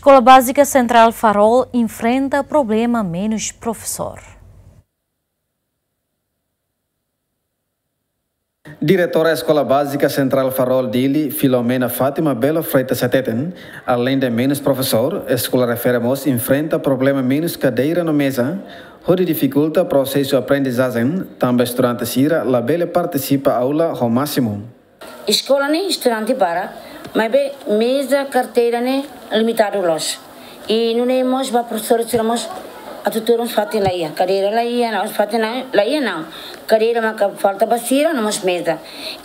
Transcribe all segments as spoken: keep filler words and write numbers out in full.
Escola Básica Central Farol enfrenta problema menos professor. Diretora Escola Básica Central Farol Dili, Filomena Fátima Belo Freitas hateten, além de menus profesór, eskola refere mós enfrenta problema menus kadeira no meza, hodi difikulta prosesu aprendizajen, tanba estudante sira labele partisipa aula ho másimu. Eskola ne'e estudante barak, maibé meza, kadeira ne'e limitadu loos. I nune'e mós ba profesór sira mós atu tuur mós fatin la iha, kadeira la iha, no mós fatin la, la iha no. Kadeira maka falta ba sira, no mós meza.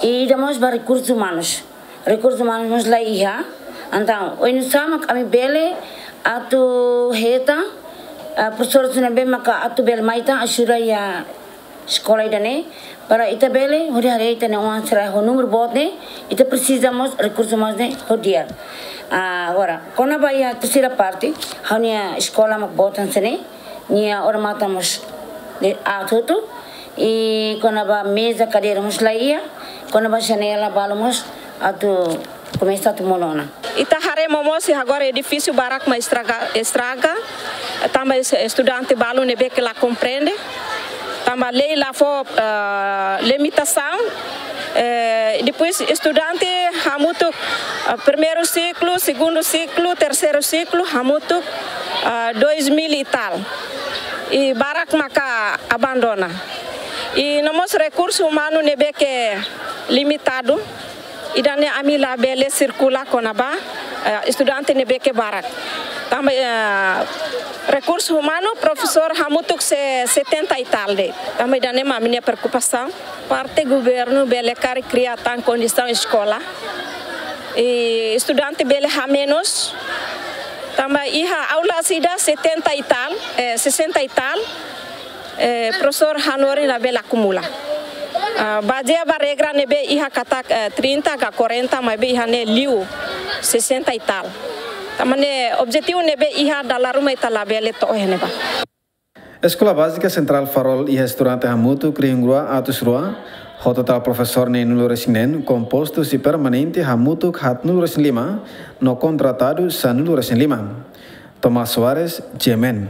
I ida mós ba rekursus umanus. Rekursus umanus mós la iha. Entaun, oinsá mak ami bele atu hetan, ah, profesór sira ne'ebé maka atu bele mai tan ajuda iha eskola ida-ne'e, para ita bele hodi haree ita-nia oan sira ho númeru boot ne'e, ita presiza mós rekursus umanus ne'e ho di'ak. Ah, agora, kona-ba iha tersira parte, ha'u-nia eskola mak boot hanesan ne'e, nia odamatan mós ne'e aat hotu, i kona-ba meza, kadeira mós la iha, kona-ba janela balu mós atu komesa atu monu ona. Ita haree momosi agora edifísiu barak mak estraga, estraga, tanba es-, estudante balu ne'ebé ke la komprende, tanba lei la fó, ah, limitasaun, eh, depois estudante hamutuk, ah, primeiru siklu, segundu siklu, terseiru siklu, hamutuk, ah, dois mil e tal. I barak maka abandona. I no mós rekursu umanu ne'ebé ke limitadu, ida-ne'e ami labele sirkula kona-ba, eh, estudante ne'ebé ke barak. Tanba, eh, rekursu umanu, profesór hamutuk se-, setenta e tal de'it. Tanba ida-ne'e mak ami-nia preokupasaun. Parte governu bele karik kria tan kondisaun eskola. I estudante bele hamenus. Tanba iha aulas ida setenta e tal, eh, sessenta e tal. Eh, profesór hanorin labele akumula. Ah, bazeia ba regra ne'ebé iha katak, eh, trinta ka quarenta, maibé iha ne'e liu sessenta e tal. Tanba ne'e objetivu ne'ebé iha dala ruma ita labele to'o iha ne'ebá. Escola Básica Central Farol iha estudante hamutuk rihun rua atus rua, ho totál profesór neenulu resin neen, kompostu husi permanente hamutuk haatnulu resin lima, no kontratadu sanulu-resin-lima. Tomás Soares, G M N.